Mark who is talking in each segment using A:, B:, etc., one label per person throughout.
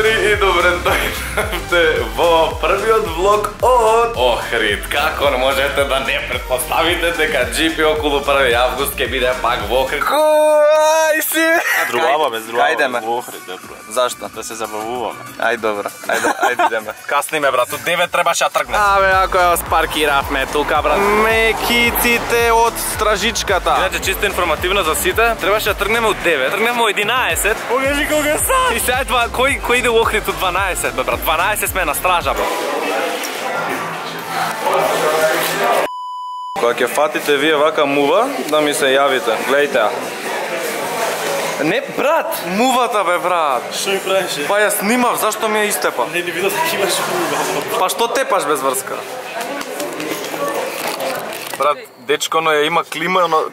A: драйвери и добре дојдовте во првиот влог од Охрид. Како можете да не претпоставите дека GP околу 1 август ќе биде пак во Охрид? Ај си!
B: Другаба,
A: Кајдеме?
B: во Охрид, добро.
A: Зашто?
B: Да се забавуваме.
A: Ај добро, ајде идеме.
B: Касниме, брат, од 9 требаше да тргнем.
A: Абе, ако ја спаркиравме тука, брат. Мекиците од стражичката. Иначе чисто информативно за сите, требаше да тргнеме од 9. Тргнеме од 11.
B: Покажи кога са.
A: И сега кој иде во Охрид од 12, бе, брат? 12 сме на стража, бе. Кога ќе фатите вие вака мува, да ми се јавите. Гледајте ја. Не, брат, мувата бе, брат.
B: Што ми правеше?
A: Па ја снимав, зашто ми ја истепа?
B: Не видов дека имаш мува.
A: Па што тепаш без врска? Брат, дечко, но ја има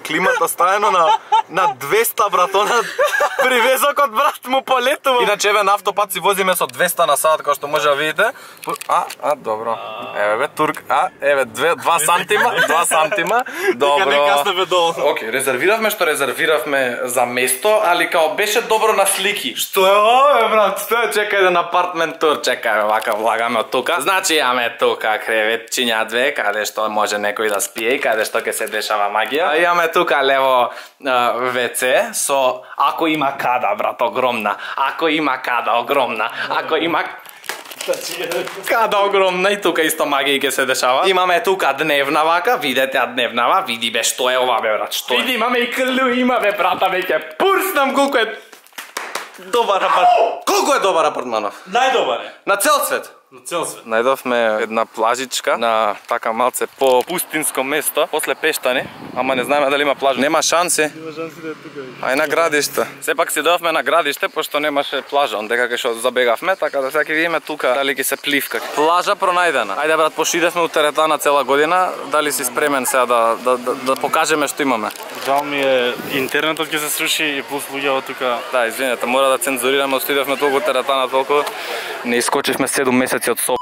A: климата стаено на 200, брат, она привезокот, брат, му полетува. Иначе, еве, на автопат си возиме со 200 на сат, како што може да видите. Добро. Еве, бе, турк, еве, 2 сантима, добро.
B: Дека не каснеме долу.
A: Океј, резервиравме што резервиравме за место, али као беше добро на слики.
B: Што е ова, брат?
A: Што е, чекај да апартмент тур, чекај, вака влагаме од тука. Значи, имаме тука креветчиња 2, каде што може некој да спие и каде што ќе се дешава магија. Имаме тука лево WC со ако има када, брат, огромна. Ако има када, огромна. Ако има када огромна и тука исто магија ќе се дешава. Имаме тука дневна вака, видете ја дневнава, види бе што е ова бе, брат, што е. Види, имаме и клю, има бе, брата, веќе пурснам колку е добар апартман. Колку е добар апартманов?
B: Најдобар е.
A: На цел свет.
B: На цел свет.
A: Најдовме една плажичка на така малце по пустинско место, после Пештани, ама не знаеме дали има плажа. Нема шанси.
B: Нема шанси да е тука.
A: Ај на градиште. Сепак си дојавме на градиште, пошто немаше плажа, ондека кај што забегавме, така да сега ќе видиме тука дали ќе се пливка. Плажа пронајдена. Ајде брат, пошидевме у теретана цела година, дали си спремен сега да покажеме што имаме?
B: Жал ми е, интернетот ќе се сруши и плюс луѓето тука.
A: Да, извинете, мора да цензурираме, отидевме толку теретана, толку не искочивме 7 месеци од Соп.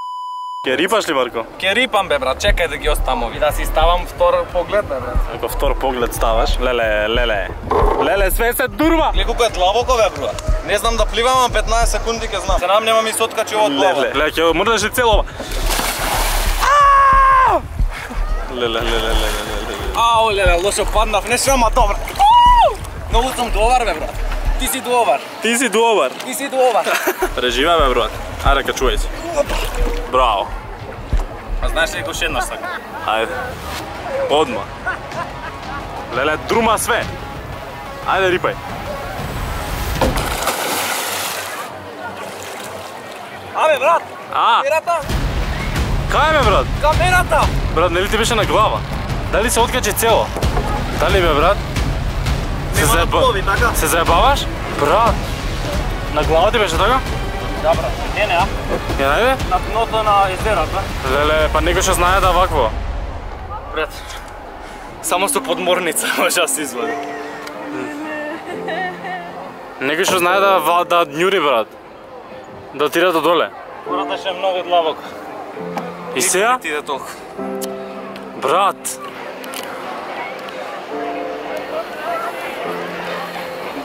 B: Ке рипаш ли, Марко?
A: Ке рипам бе, брат, чекај да ги оставам ови. Да си ставам втор поглед бе, брат.
B: Ако втор поглед ставаш, леле, све се дурва.
A: Гледай колку е длабоко бе, брат. Не знам да пливам, ама 15 секунди ќе знам. Се нам нема ми се откачи од глава.
B: Леле, ќе мрдаш ли цело ова? Леле.
A: Ау, леле, лошо паднав, не шема добар. Многу сум добар бе, брат. Ти си добар.
B: Ти си добар.
A: Ти си добар.
B: Преживе бе, брат. Ајде, качувај се. Браво.
A: А знаеш ли го шеднаш така?
B: Ајде. Одма. Леле, друма све. Ајде, рипај.
A: Абе, брат. Камерата.
B: Кај ме, брат?
A: Камерата.
B: Брат, нели ти беше на глава? Дали се откачи цело? Дали бе, брат? Се заебаваш? Брат. На глава ти беше така?
A: Да, брат. Не, а?
B: Ја најде?
A: На дното на езерото.
B: Леле, па некој што знае да вакво.
A: Брат. Само со подморница може да се извади.
B: Некој што знае да њури, брат. Да отиде до доле.
A: Гората ше многу длабоко.
B: И сега?
A: Ти иде толку.
B: Брат.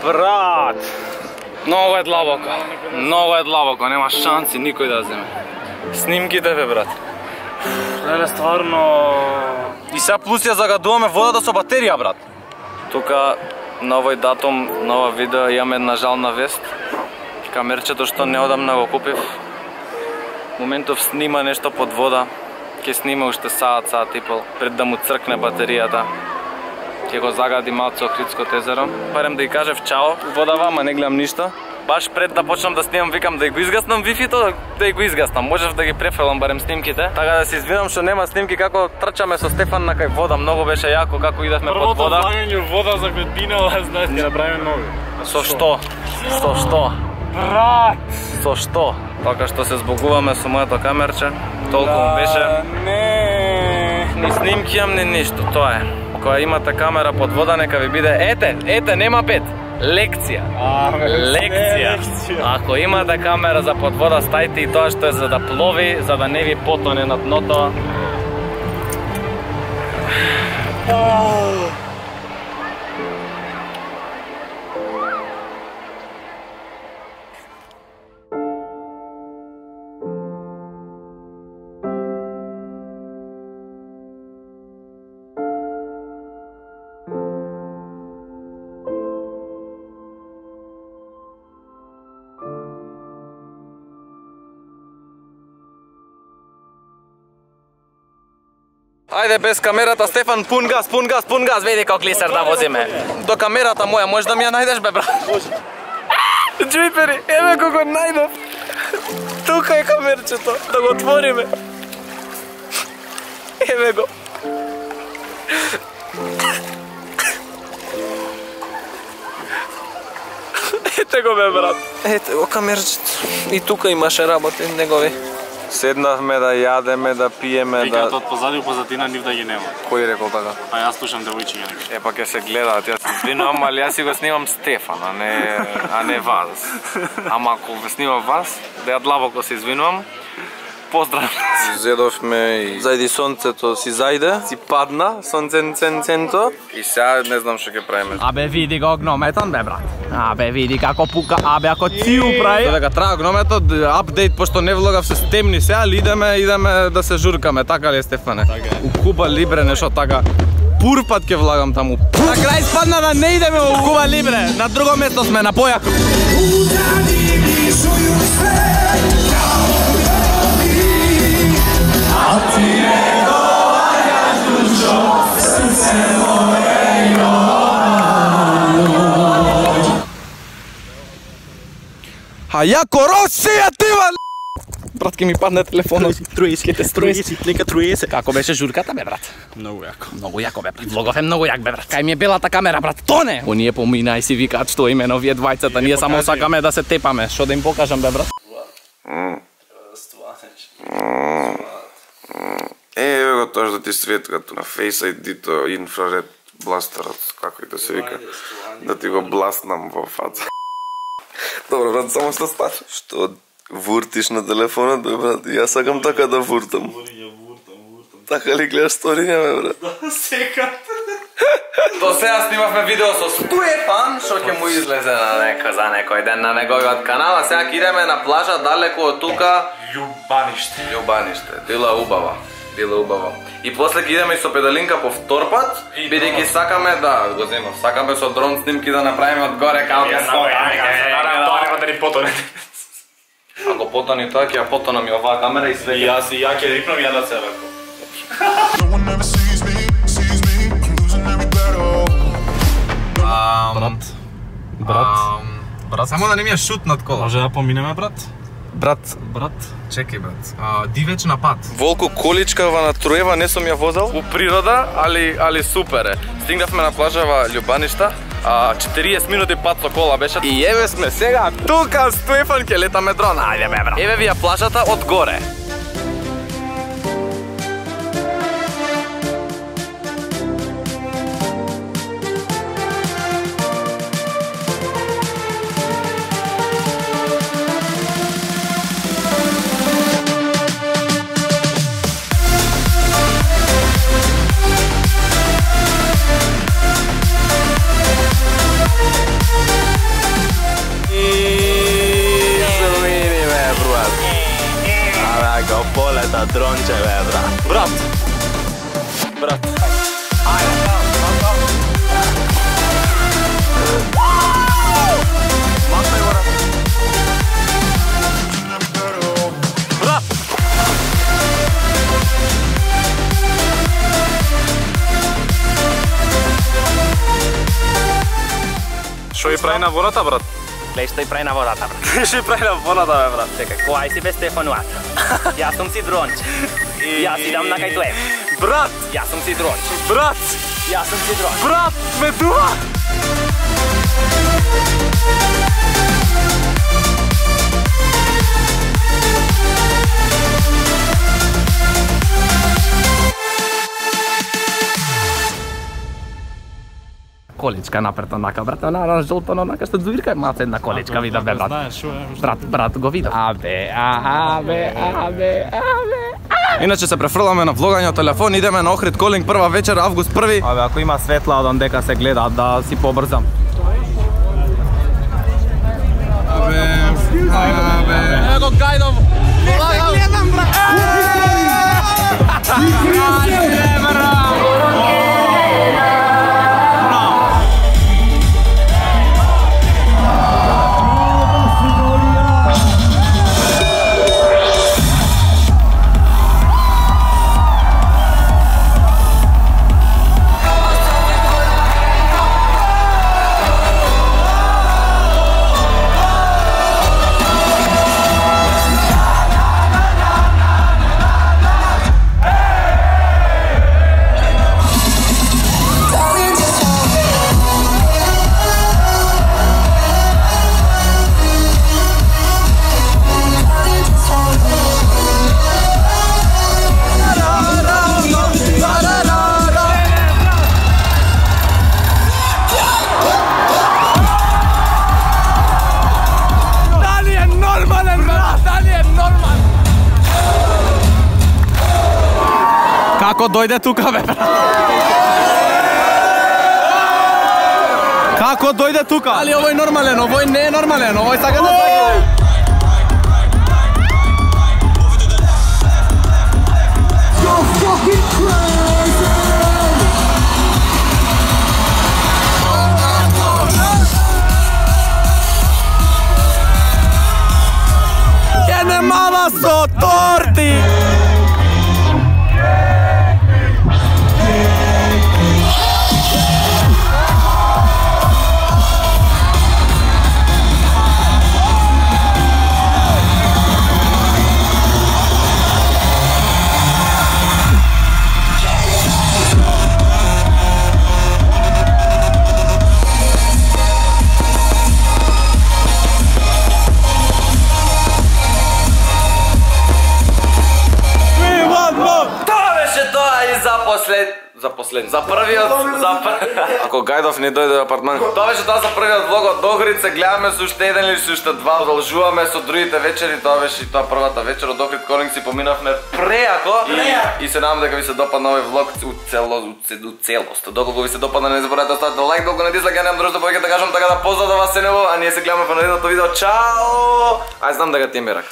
A: Брат. Многу е длабоко, нема шанси никој да земе. Снимките бе, брат.
B: Леле, стварно.
A: И сега плюс ја загадуваме водата со батерија, брат. Тука на овој датум, на ова видео имам една жална вест. Камерчето што неодамна го купив, моментов снима нешто под вода. Ќе снима уште саат и пол пред да му цркне батеријата. Ќе го загади малце Охридското езеро. Барем да ја кажев чао, водава, ама не гледам ништо. Баш пред да почнам да снимам, викам да го изгаснам вифито, да го изгаснам. Можев да ги префелам барем снимките. Така да се извинам што нема снимки како трчаме со Стефан на кај вода. Многу беше јако како идевме под вода.
B: Првото влагање вода за Гветбинала, знаеш, ќе направиме нови.
A: Со што? Со што?
B: Брат!
A: Со што? Така што се збогуваме со моето камерче. Толку му беше.
B: Не.
A: Ни снимки имам, ни ништо, тоа е. Кога имате камера под вода, нека ви биде ете, нема пет. Лекција. Ако имате камера за под вода, стајте и тоа што е за да плови, за да не ви потоне на дното. Ајде без камерата, Стефан, пун газ, види како клисер да возиме. До камерата моја, можеш да ми ја најдеш, бе, брат? Джујпери, еве како најдов. Тука е камерчето, да го отвориме. Еве го. Ете го, бе, брат. Ете го камерчето. И тука имаше работи негови. Седнавме да јадеме, да пиеме,
B: Викаат од позади у позадина нив да ги нема.
A: Кој рекол така?
B: А јас слушам девојчиња некој.
A: Па ќе се гледаат, јас се извинувам, али јас си го снимам Стефан, а не вас. Ама ако го снимам вас, да ја длабоко се извинувам. Поздрав. Зедовме и зајди сонцето си зајде, си падна, сонценценценто. И сега не знам што ќе правиме.
C: Абе види го огнометон, бе, брат. Абе види како пука, абе ако циу прави.
A: Додека трае огнометот, апдейт, пошто не влогав се стемни сега, али идеме да се журкаме, така ли е, Стефане? У Куба Либре нешто така. Пур пат ќе влагам таму.
C: На крај спадна да не идеме у Куба Либре, на друго место сме, на Појако.
A: А јако Росија тива! Брат, ке ми падне телефонот.
C: Труесе. Како беше журката, бе, брат?
B: Многу јако.
C: Многу јако, бе, брат. Влогов е многу јак, бе, брат. Кај ми е белата камера, брат, тоне! Оние помина и си викаат што име овие двајцата, ние само сакаме да се тепаме. Што да им покажам, бе, брат?
A: Еве го тоа што ти светкато на Face ID-то, инфраред бластерот, како и да се вика, да ти го бласнам во фаца. Добро, брат, само што стане? Што вуртиш на телефонот, бе, брат? Јас сакам така да вуртам. Така ли гледаш сториња, бе, брат?
B: Да, секат.
A: До сега снимавме видео со Стефан, што ќе му излезе за некој ден на неговиот канал, а сега идеме на плажа далеку од тука. Љубаниште. Дила убава. И после ќе идеме и со педалинка по втор пат, бидејќи сакаме да го земам. Сакаме со дрон снимки да направиме од горе како ќе
B: потоне.
A: Ако потони тоа, ќе ја потонам и оваа камера и све.
B: И јас ќе рипнам ја да се рако.
A: Брат, само да не ми е шутнат кола.
B: Може да поминеме, брат?
A: Брат, чекај, брат. Дивеч на пат. Волку количкава на Троева не сум ја возел. У природа, али супер е. Стигнавме на плажава Љубаништа. 40 минути пат со кола беше. И еве сме сега тука, Стефан, ќе летаме дрон. Ајде, бе, брат. Еве ви ја плажата од горе.
C: Полета дронче, бе, брат. Брат.
B: Што и прави на водата, брат?
C: Глеј што и прави на водата, брат.
B: Што и прави на водата, бе, брат?
C: Чекај, кој си бе Стефануата? Јас сум си дронче. Јас идам на кај тоа.
B: Брат!
C: Јас сум си дронче.
B: Брат!
C: Јас сум си дронче.
B: Брат! Ме дува!
C: Количка напред онака, брат, на жолто, онака што звирка, малце една количка видав, бе, брат. Брат, го видав. Абе.
A: Иначе се префрламе на влогање од телефон, идеме на Охрид Колинг прва вечер, август 1.
C: Абе, ако има светла од дека се гледа, да си побрзам.
A: Ево го гајдам. Гледам, брат.
C: Како дојде тука, бе, брат?
D: Како дојде тука?
C: Али овој нормален, овој не е нормален, овој сака да сака.
D: Јене мама со торти!
A: За првиот, ако Гајдов не дојде во апартман. Тоа беше тоа за првиот влог од Охрид, се гледаме со уште еден или со уште два, продолжуваме со другите вечери, тоа беше и тоа првата вечер од Охрид Колинг, си поминавме преако и се надам дека ви се допадна овој влог у целост. Доколку ви се допадна, не заборавајте да ставите лайк, доколку не дизлайк, ја немам друштво повеќе да кажам, така да поздрав да вас се небо, а ние се гледаме во наредното видео. Чао! Ај знам дека ти е мерак.